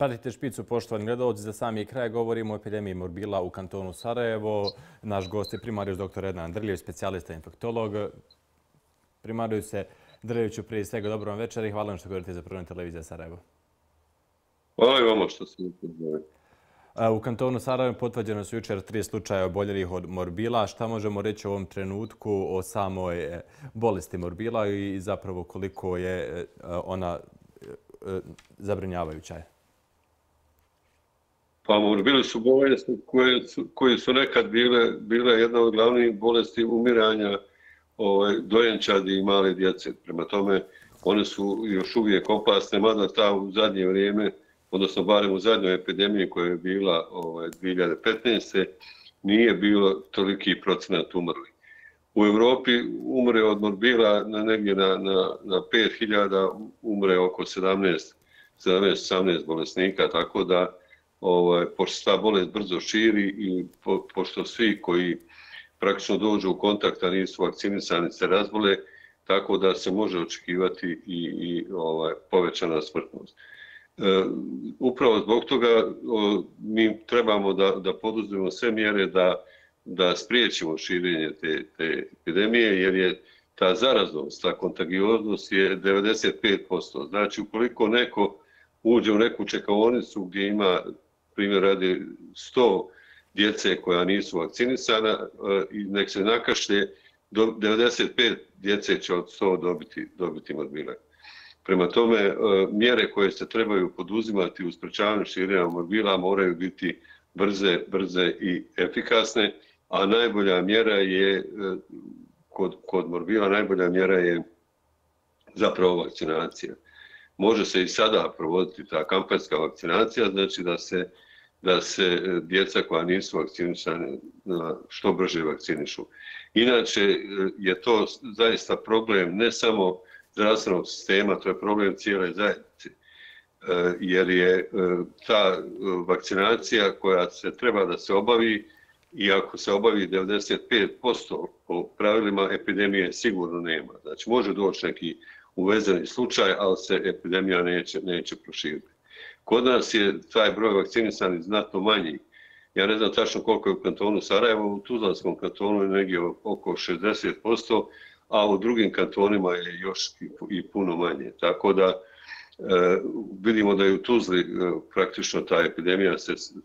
Pratite Špicu, poštovani gledalci, za sami kraj govorimo o epidemiji morbila u kantonu Sarajevo. Naš gost je primarijus dr. Ednan Drljević, specijalista infektolog. Primarijuse Drljeviću, prije svega dobro vam večer i hvala vam što govorite za Prva televizija Sarajevo. Hvala i vama što ste upoznali. U kantonu Sarajevo potvrđeno su jučer 3 slučaja oboljelih od morbila. Šta možemo reći u ovom trenutku o samoj bolesti morbila i zapravo koliko je ona zabrinjavajuća? Pa morbili su bolesti koje su nekad bile jedna od glavnih bolesti umiranja dojenčadi i male djece. Prema tome, one su još uvijek opasne, mada ta u zadnje vrijeme, odnosno barem u zadnjoj epidemiji koja je bila 2015. nije bilo toliki procenat umrli. U Europi umre od morbila negdje na 5.000, umre oko 17-18 bolesnika, tako da pošto ta bolest brzo širi i pošto svi koji praktično dođu u kontakt, a nisu vakcinisani, se razbole, tako da se može očekivati i povećana smrtnost. Upravo zbog toga mi trebamo da poduzmemo sve mjere da spriječimo širenje te epidemije, jer je ta zaraznost, ta kontagioznost je 95%. Znači, ukoliko neko uđe u neku čekaonicu gdje ima, primjer radi, 100 djece koja nisu vakcinisana i nek se nakašlje, 95 djece će od 100 dobiti morbile. Prema tome, mjere koje se trebaju poduzimati u sprečavanju širenja morbila moraju biti brze i efikasne, a najbolja mjera je, kod morbila, najbolja mjera je zapravo vakcinacija. Može se i sada provoditi ta kampanjska vakcinacija, znači da se djeca koja nisu vakcinisana što brže vakcinišu. Inače je to zaista problem ne samo zdravstvenog sistema, to je problem cijele zajednice. Jer je ta vakcinacija koja se treba da se obavi, i ako se obavi 95%, po pravilima epidemije sigurno nema. Znači može doći neki uvezeni slučaj, ali se epidemija neće proširiti. Kod nas je taj broj vakcinisanih znatno manji. Ja ne znam tačno koliko je u kantonu Sarajevo, u Tuzlanskom kantonu je negdje oko 60%, a u drugim kantonima je još i puno manje. Tako da vidimo da je u Tuzli praktično ta epidemija se sve